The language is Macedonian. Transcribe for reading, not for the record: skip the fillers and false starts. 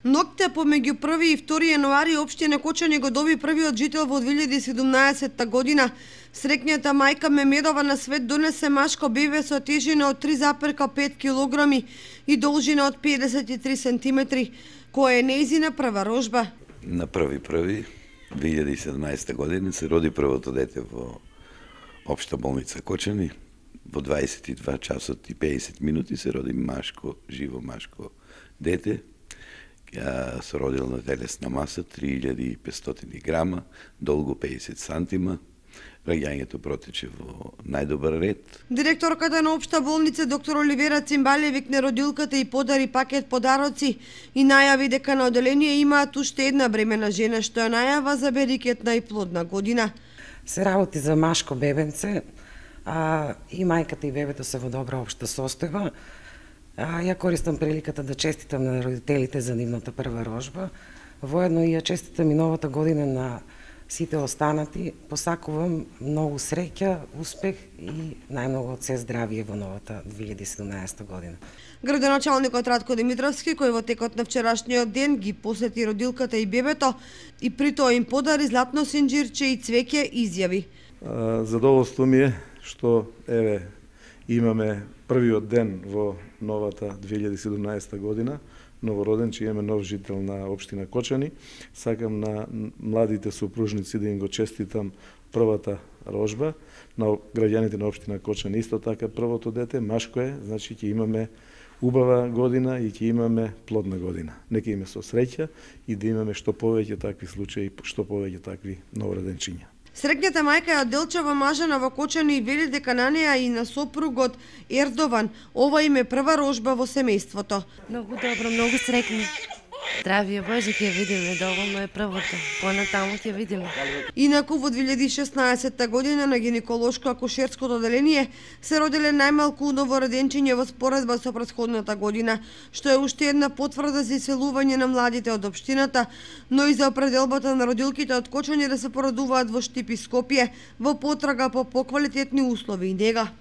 Ноќта помеѓу 1 и 2 јануари општина Кочани го доби првиот жител во 2017 година. Среќната мајка Мемедова на свет донесе машко бебе со тежина од 3,5 килограми и должина од 53 сантиметри, која е нејзина прва рожба. На 1.1.2017 година се роди првото дете во Општа болница Кочани. Во 22 часот и 50 минути се роди живо машко дете. Ја се родила на телесна маса 3500 грама, долго 50 сантима. Раѓањето протече во најдобар ред. Директорката на Општа болница доктор Оливера Цимбале викне родилката и подари пакет подароци и најави дека на оделение имаат уште една бремена жена што ја најава за берикетна и плодна година. Се работи за машко бебенце, и мајката и бебето се во добра општа состојба. Ја користам приликата да честитам на родителите за нивната прва рожба. Воедно и ја честитам и новата година на сите останати. Посакувам многу среќа, успех и најмногу од се здравие во новата 2017 година. Градоначалникот Радко Димитровски, кој во текот на вчерашниот ден ги посети родилката и бебето и при тоа им подари златно синџирче и цвеќе, изјави: задоволство ми е што имаме првиот ден во новата 2017 година, новороден, че имаме нов жител на општина Кочани. Сакам на младите супружници да им го честитам првата рожба, на граѓаните на општина Кочани исто така првото дете, машко е, значи ќе имаме убава година и ќе имаме плодна година. Нека име со среќа и да имаме што повеќе такви случаи, што повеќе такви новороденчиња. Среќната мајка ја Делчева мажана во Кочани и вели дека на неа и на сопругот Ердован ова им е прва рожба во семејството. Многу добро, многу среќни. Здравие Боже, ќе видиме, доволно е првото. Понатаму ќе видиме. Инаку во 2016 година на гинеколошко-акушерското оделение се родиле најмалку новороденчиња во споредба со претходната година, што е уште една потврда за иселување на младите од општината, но и за определбата на родилките од Кочани да се породуваат во Штип и Скопје во потрага по поквалитетни услови и нега.